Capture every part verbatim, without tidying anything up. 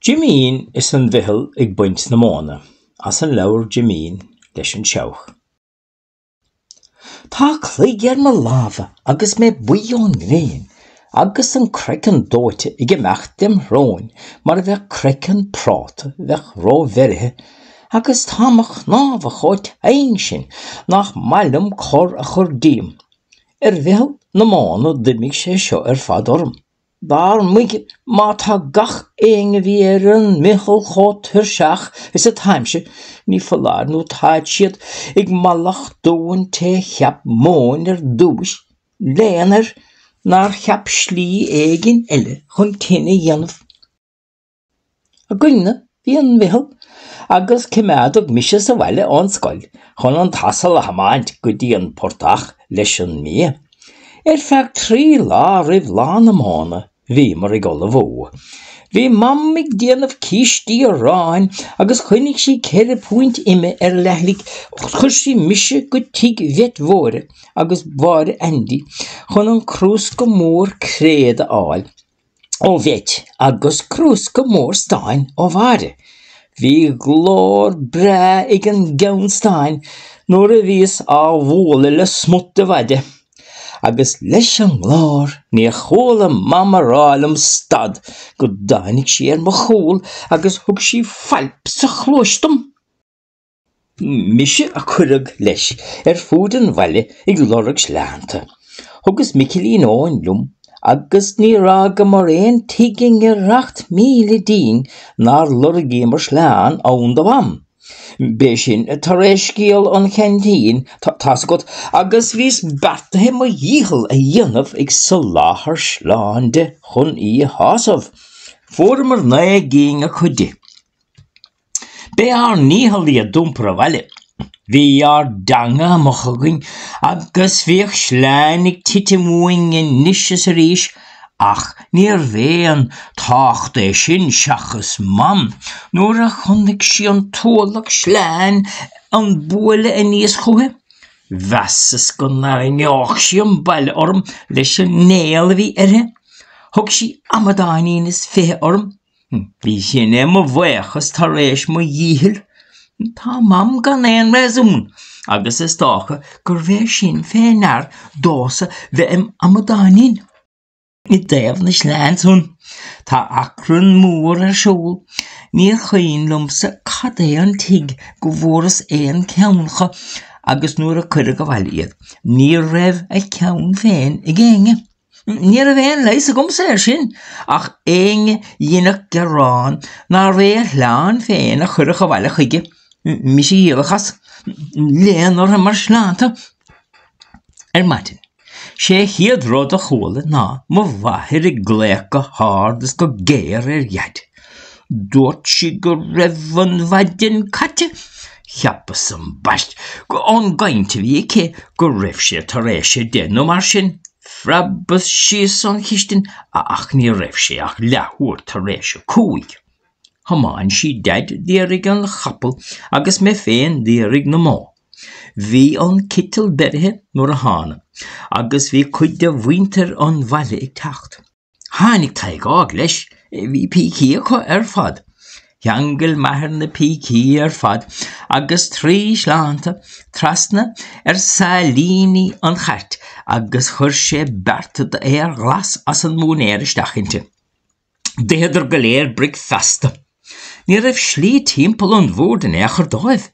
Jimín is an Mhicheál ag baint na móna, as an leabhar Jimín leis an Seabhac. Tá cloig ar mo lámha agus mé buí ón ngréin, agus an craiceann dóite ag imeacht dem shrón mar a bheadh craiceann práta a bheadh róbheirithe, agus tá mo chnámha chomh tinn sin nach maith liom cor a chur díom. Ar Mhicheál na móna d'imigh sé seo ar fad orm. Dar muige má tá gach éinne a bhí ar an Micheál chomh tuirseach is atáimse, ní foláir nó táid siad ag mallachtú an té cheap móin ar dtúis, léan air nár cheap slí éigin eile chun tine a dhéanamh. Againne bhí an Micheál agus coimeádadh mise sa bhaile ón scoil chun an t-asal a thiomáint go dtí an portach leis an mbia. Ar feadh trí lá roimh lá na móna bhíomar ag ullmhú. Bhí Mam ag déanamh cístí aráin agus choinnigh sí ceithre púint ime ar leithligh. Chuir sí mise go tigh Bheit Mhóire agus Mháire Aindí chun an crúsca mór créad a fháil ó Bheit agus crúsca mór stáin ó Mháire. Bhí glór breá ag an gceann stáin nuair a bhíos á bhualadh le smut de mhaide. Agus leis an nglór níor chuala Mam a rá liom stad go dtáinig sí ar mo chúl agus thug sí failp sa chluais dom. Mise a cuireadh leis ar fud an bhaile ag lorg sleánta. Thugas Micilín Eoin liom agus níor fhágamar aon tigh i ngiorracht míle dínn nár lorgaíomar sleán ann do Mham. B'é sin tar éis scéal an cheaintín, tá's agat, agus bhíos beartaithe mo dhícheall a dhéanamh ag soláthar sleán di chun í a shásamh. Fuaireamar naoi gcinn acu di. B'é ár ndícheall iad d'iompar abhaile. Bhí ár dteanga amuigh againn agus bhíodh sleáin ag titim uainn anois is arís, ach níorbh aon tábhacht é sin seachas Mam nuair a chonaic sí an t-ualach sleáin an bualadh aníos chuici. Mheasas go ndarraingeodh sí an baile orm leis an néal a bhí uirthi. Thug sí amadáinín is fiche orm. Bhí sin é mo bhuíochas tar éis mo dhíchill. Tá Mam gan aon réasún, agus is dócha gurbh é sin fé ndear domhsa bheith im amadáinín. I dtaobh na sleán san, tá achrann mór ar siúl. Níor chuimhin liomsa cad é an tigh go bhfuaireas aon cheann acu agus nuair a cuireadh abhaile iad, ní raibh a cheann féin ag éinne. Ní raibh aon leigheas agamsa air sin, ach éinne dhéanfadh gearán nárbh é a shleán féin a chuirfeadh abhaile chuige, mise a dhíolfadh as, léan orthu mar shleánta. Ar maidin, sé chéad rud a chuala ná mo mháthair ag glaoch go hard is go géar ar Dhaid. Dúirt sí go raibh an mhaidin caite. Cheapas ambaist ón gcaint a bhí aici go raibh sé tar éis a deich nó mar sin. Phreabas síos ón chistin ach ní raibh sé ach leathuair tar éis a cúig. Thiomáin sí Daid d'iarraidh an chapall agus mé féin d'iarraidh na mbó. Bhí an citeal beirithe nuair a thána, agus bhí cuid de mhuintir an bhaile ag teacht. Tháinig Tadhg Óg leis, bhí pící acu ar fad. Cheangail m'athair na pící ar fad agus trí shleánta trasna ar sailíní an chairt agus chuir sé bearta d'fhéar ghlas as an móinéar isteach inti. D'itheadar go léir bricfeasta. Ní raibh slí timpeall an bhoird in aon chor dóibh.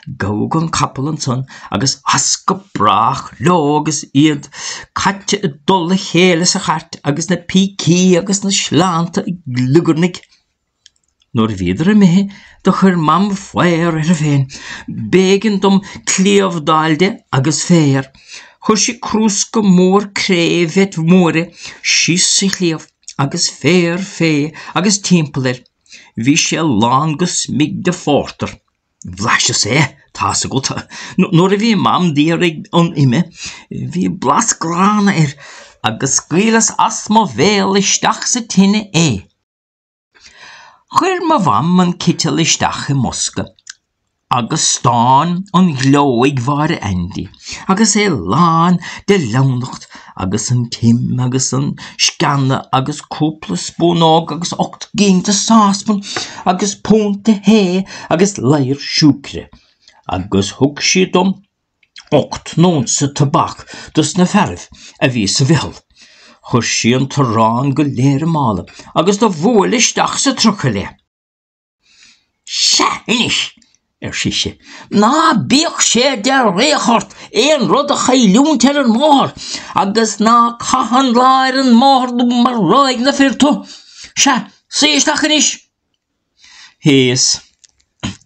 Gabhadh an capall ansan agus as go brách leo agus iad caite i dtoll a chéile sa chairt agus na pící agus na sleánta ag gliogarnaigh. Nuair a bhíodar imithe do chuir Mam faobhar uirthi féin. B'éigean dom cliabh d'fháil di agus féar. Chuir sí crúsca mór cré Bheit Mhóire síos sa chliabh agus féar fé agus timpeall air. Bhí sé lán go smig de phórtar. Bhlaiseas é, tá's agat. Nuair a bhí Mam d'iarraidh an ime, bhí blas gránna air agus scaoileas as mo bhéal isteach sa tine é. Chuir mo mham an citeal isteach i mbosca Agus stán an ghleo ag Mháire Aindí, agus é lán de leamhnacht agus an t-im agus an sceana agus cúpla spúnóg agus ocht gcinn de sáspan agus punt de thae agus ladhar siúcra. Agus thug sí dom ocht n-unsa tobac dos na fearaibh a bhí sa mheitheal. Chuir sí an t-arán go léir i mála agus do bhuail isteach sa trucail é. Sea anois, ar sise, ná bíodh sé de fhraoch ort aon rud a chailliúint ar an mbóthar agus ná caith an lá ar an mbóthar nó maróidh na fir tú. Sea, suigh isteach anois. Shuíos.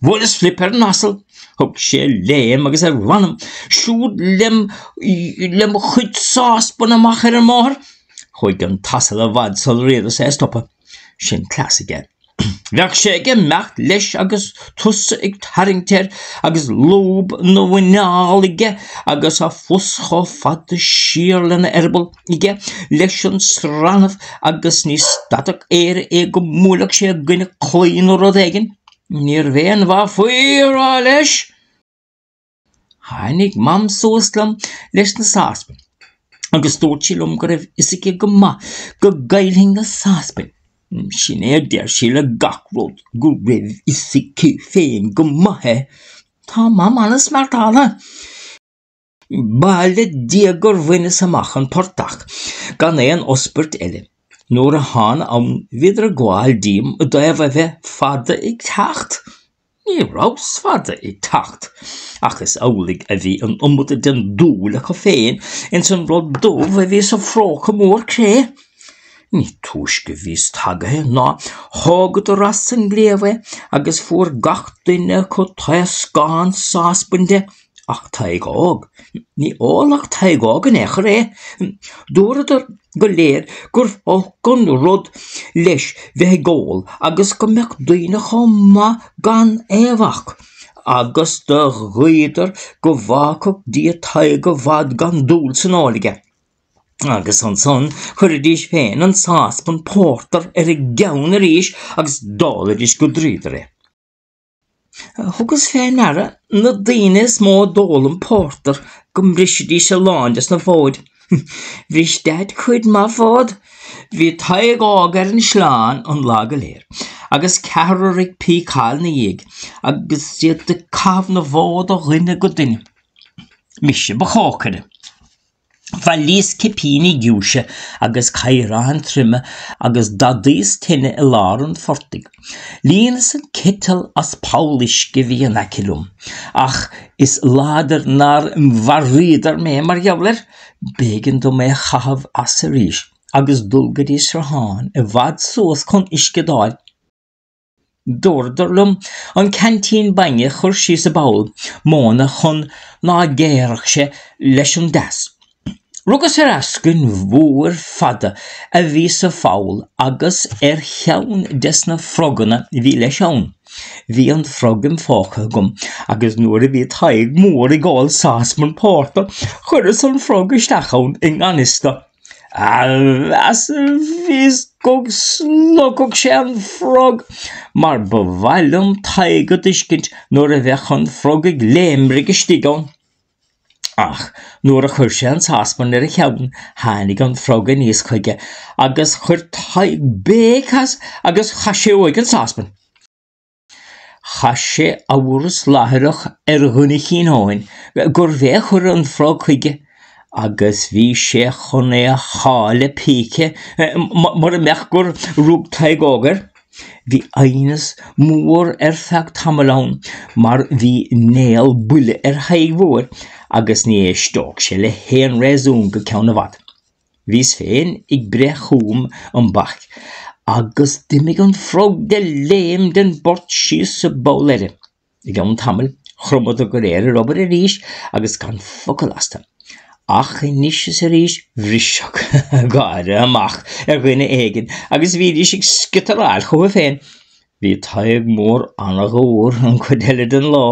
Bhuaileas Flip ar an asal. Thug sé léim agus ar mh'anam siúd lem lem chuid sáspan amach ar an mbóthar. Chuaigh an t-asal i bhfad sular fhéadas é a stopadh. Sin cleas aige. Bheadh sé ag imeacht leis agus tusa ag tarraingt air agus lúb ina mhuineál aige agus a phus chomh fada siar lena eireaball aige leis an srannamh agus ní stadfadh Éire é go mbuailfeadh sé i gcoinne claí nó rud éigin. Níorbh aon mhaith faoi a rá leis. Tháinig Mam suas liom leis na sáspain agus dúirt sí liom go raibh fhios aici go maith go gcaillfinn na sáspain. Sin é a deir sí le gach rud, go raibh fhios aici féin go maith é. Tá Mam an-smeartáltha. Ba le Dia gur bhaineas amach an portach gan aon ospairt eile. Nuair a thána ann bhíodar ag gabháil díom i dtaobh a bheith fada ag teacht. Ní rabhas fada ag teacht, ach is amhlaidh a bhí an iomad den dúil acu féin ins an rud dubh a bhí sa phróca mór cré. Ní túisce bhíos tagaithe ná thógadar as an gcliabh é agus fuair gach duine acu taoscán sáspain de. Ach Tadhg Óg, ní ólfadh Tadhg Óg in aon chor é. Dúradar go léir gurbh olc an rud leis bheith ag ól agus go mbeadh daoine chomh maith gan é a bhac, agus do ghuíodar go bhfágfadh Dia Tadhg i bhfad gan dúil san ól aige. Agus ansan chuiridís féin an sáspan pórtair ar a gceann arís agus d'ólaidís go dríodar é. Thugas fé ndeara na daoine is mó a d'ól an pórtar go mbrisidís a lán des na fóid. Bhris Daid cuid maith fód. Bhí Tadhg Óg ar an sleán an lá go léir, agus ceathrar ag píceáil 'na dhiaidh, agus iad ag caitheamh na bhfód ó dhuine go duine. Mise ba chócaire. Bhailíos cipíní giúise agus caoráin troime agus d'adaíos tine i lár an phortaigh. Líonas an citeal as poll uisce a bhí in aice liom, ach is láidir nár mharaíodar mé mar gheall air. B'éigean dom é a chaitheamh as arís agus dul go dtí sruthán i bhfad suas chun uisce d'fháil. Dúradar liom an ceaintín bainne a chur síos i bpoll móna chun ná géarfadh sé leis an dteas. Rugas ar eascainn mhór fada a bhí sa pholl agus ar cheann des na froganna a bhí leis ann. Bhí an frog im phóca agam agus nuair a bhí Tadhg Mór ag ól sáspan pórtair chuireas an frog isteach ann i ngan fhios dó. A mheas a bhíos go slogfadh sé an frog, mar ba mhaith liom Tadhg a d'fheiscint nuair a bheadh an frog ag léimrigh istigh ann. Ach nuair a chuir sé an sáspan ar a cheann tháinig an frog aníos chuige agus chuir Tadhg béic as agus chaith sé uaidh an sáspan. Chaith sé amhras láithreach ar dhuine Chinn Eoin gurbh é a chuir an frog chuige agus bhí sé chun é a shá le píce mura mbeadh gur rug Tadhg Óg air. Bhí aighneas mór ar feadh tamaill ann mar bhí néal buile ar Thadhg Mhóir agus ní éisteodh sé le haon réasún go ceann i bhfad. Bhíos féin ag breith chugam an bac agus d'imigh an frog de léim den bport síos sa bpoll eile. I gceann tamaill chromadar go léir ar obair arís agus gan focal astu. Ach anois is arís bhrisfeadh gáire amach ar dhuine éigin agus bhídís ag sciotaráil chucu féin. Bhí Tadhg Mór an-dhúr an chuid eile den lá.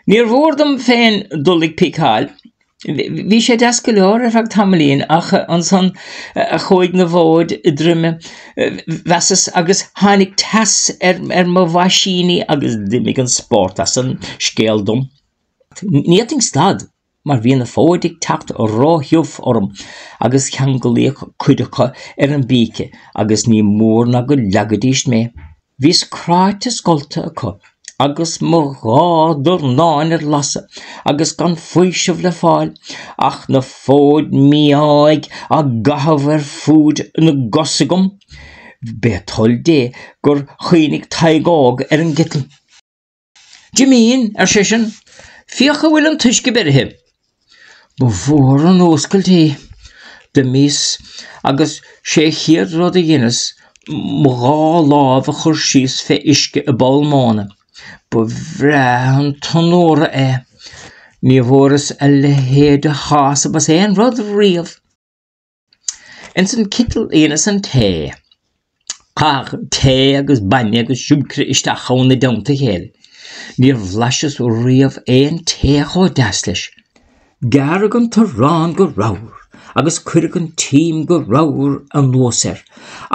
Níor mhór dom féin dul ag píceáil. Bhí sé deas go leor ar feadh tamaillín ach ansan chuaigh na fóid i dtroime, mheasas, agus tháinig teas ar ar mo bhoisíní agus d'imigh an spórt as an scéal dom. Ní fhéadfainn stad mar bhí na fóid ag teacht róthiubh orm agus ceanglaíodh cuid acu ar an bpíce agus ní mór ná go leagfaidís mé. Bhíos cráite scolta acu agus mo dhá dornán ar lasadh agus gan faoiseamh le fáil ach na fóid mí-áidh á gcaitheamh ar fuaid na gcos agam. B'é toil Dé gur chuimhnigh Tadhg Óg ar an gciteal. Jimín, ar seisean, féach an bhfuil an t-uisce beirithe. Ba mhór an fhuascailt í. D'imíos agus sé an chéad rud a dheineas mo dhá lámh a chur síos fé uisce i bpoll móna. Ba bhreá an t-onóra é. Ní bhfuaireas a leithéid de shásamh as aon rud riamh. Ins an citeal a dheineas an tae. Caitheadh tae agus bainne agus siúcra isteach ann i dteannta a chéile. Níor bhlaiseas riamh aon tae chomh deas leis. Gearradh an t-arán go ramhar agus cuireadh an t-im go ramhar anuas air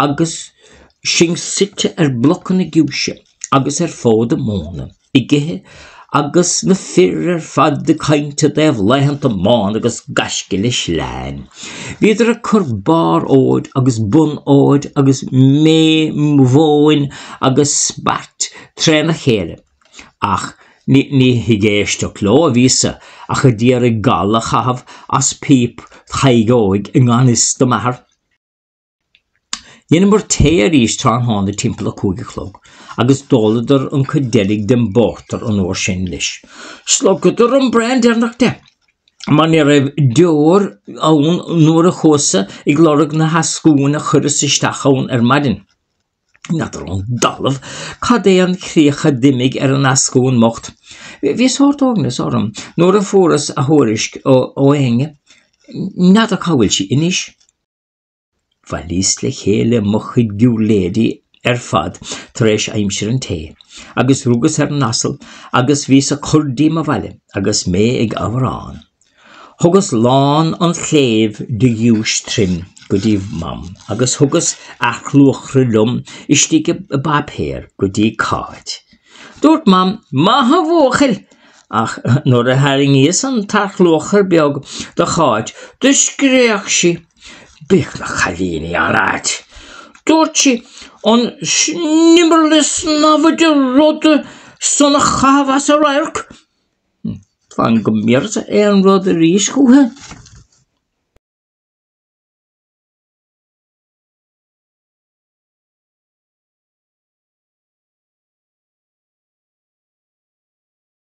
agus sinn suite ar bhlocanna giúise agus ar fóda móna ag ithe agus na fir ar fad ag caint i dtaobh laethanta móna agus gaisce le sleáin. Bhíodar ag cur barr fhóid agus bun fhóid agus méith mhóin agus spairt tréna chéile. Ach ní ní ag éisteacht leo a bhíos-sa ach a d'iarraidh gal a chaitheamh as píp Thaidhg Óig i ngan fhios do m'athair. Dheineamar tae arís tráthnóna timpeall a cúig a chlog agus d'óladar an cuid deiridh den bpórtar an uair sin leis. Shlogadar an braon deireanach de, mar ní raibh deoir ann nuair a chuas-sa ag lorg na heascúin a chuireas isteach ann ar maidin. N'fheadar ón dtalamh cad é an chríoch a d'imigh ar an eascún mbocht. Bhí sórt uaigneas orm nuair a fuaireas a thuairisc ó Áine. N'fheadar cá bhfuil sí anois. Bhailíos le chéile mo chuid giúirléidí ar fad tar éis aimsir an tae, agus rugas ar an asal agus bhíos ag cur díom abhaile agus mé ag amhrán. Thugas lán an chléibh de ghiúis trim go dtí Mam agus thugas earcluachra liom istigh i bpáipéar go dtí Cáit. Dúirt Mam, Maith a bhuachaill! Ach nuair a tharraingíos an t-earcluachar beag do Cháit, do scréach sí. Bíodh na cailíní an-ait. Dúirt sí, an sniombarla snámha de rud san a chaitheamh as a radharc. Fan go mbéarfadsa aon rud arís chúithi.